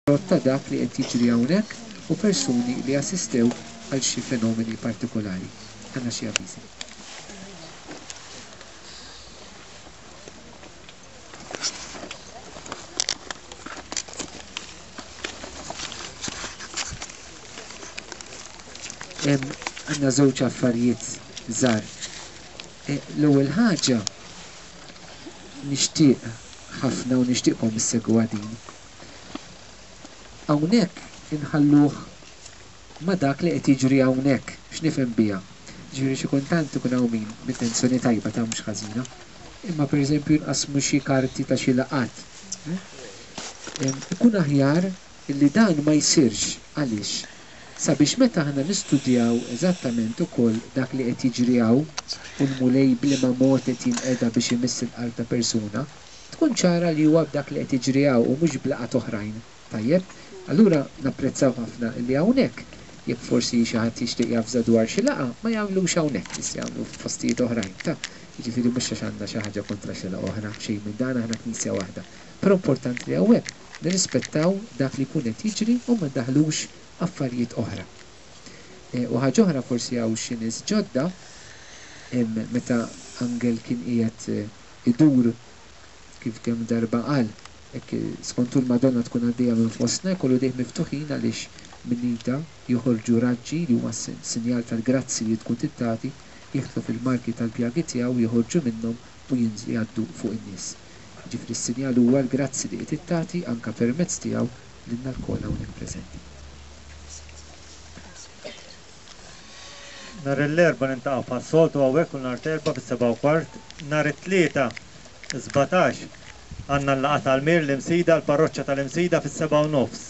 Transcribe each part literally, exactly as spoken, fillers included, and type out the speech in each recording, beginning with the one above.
Frott ta' dak li qed jiġri hawnhekk u persuni li assistew għal xi fenomeni partikolari. Għandna xi avviżi. Għandna żewġ affarijiet żgħar. L-ewwel ħaġa nixtieq ħafna u nixtieqkom issegwu din. Hawnhekk inħalluh ma' dak li qed jiġri hawnhekk, x'nifhem biha. Ġifieri xi kultant ikun hawn min b'intenzjoni tajba ta' mhux ħażina, imma pereżempju nqassmu xi karti ta' xi laqgħat. Ikun aħjar illi dan ma jsirx. Għaliex? Sabiex meta aħna nistudjaw eżattament ukoll dak li qed jiġri hawn u l-Mulej b'liema mod qed jinqeda biex imiss il-qalb ta' persuna, tkun ċara li huwa b'dak li qed jiġri hawn u mhux b'laqgħat oħrajn. Tajjeb? Allura napprezzaw ħafna illi hawnhekk, jekk forsi xi ħadd jixtieq javża dwar xi laqgħa, ma jagħmlux hawnhekk, jista' jagħmlu f'postijiet oħrajn. Ta' jiġifieri mhux għax għandna xi ħaġa kontra xi laqgħa oħra, xejn minn dan, aħna knisja waħda. Però importanti li hawnhekk nirrispettaw dak li jkun qed jiġri u ma ndaħħlux affarijiet oħra. U ħaġa oħra, forsi hawn xi nies ġodda, meta Angel kien qiegħed idur kif kemm darba qal, hekk skontu l-Madonna tkun għaddejja minn fostna, jkollu idejh miftuħin għaliex minn idha joħorġu raġġi li huma sinjal tal-grazzi li tkun tittati, jidħlu fil-marki tal-pjagi tiegħu, joħorġu minnhom u jinżlu jgħaddu fuq in-nies. Ġifieri s-sinjal huwa l-grazzi li qed tittati anke permezz tiegħu lilna lkoll hawnhekk preżenti. Nhar l-Erbgħa niltaqgħu bħas-soltu hawnhekk kull nhar t-Erbgħa fis-sebgħa u kwart. Nhar it-Tlieta sbatax għandna l-laqgħa tal-Mir l-Imsida, l-parroċċa tal-Imsida fis-sebgħa u nofs.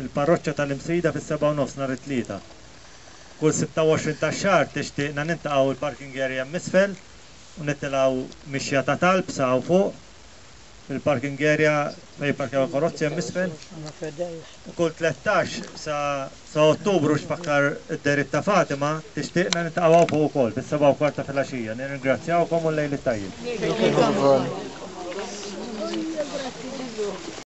Il-parroċċa tal-Imsida fis-sebgħa u nofs nhar it-Tlieta. Kull sitta u għoxrin tax-xahar tixtieqna niltaqgħu l-parking area hemm isfel u nitilgħu mixja ta' talb sa hawn fuq fil-parking area fejn jipparkjaw il-karozzi hemm isfel. U kull tlettax sa, sa Ottubru x'fakkar id-dehriet ta' Fatima, tixtieqna niltaqgħu hawn fuq ukoll fis-sebgħa u kwart ta' filgħaxija. Nirringrazzjawkom u l-lejl it-tajjeb.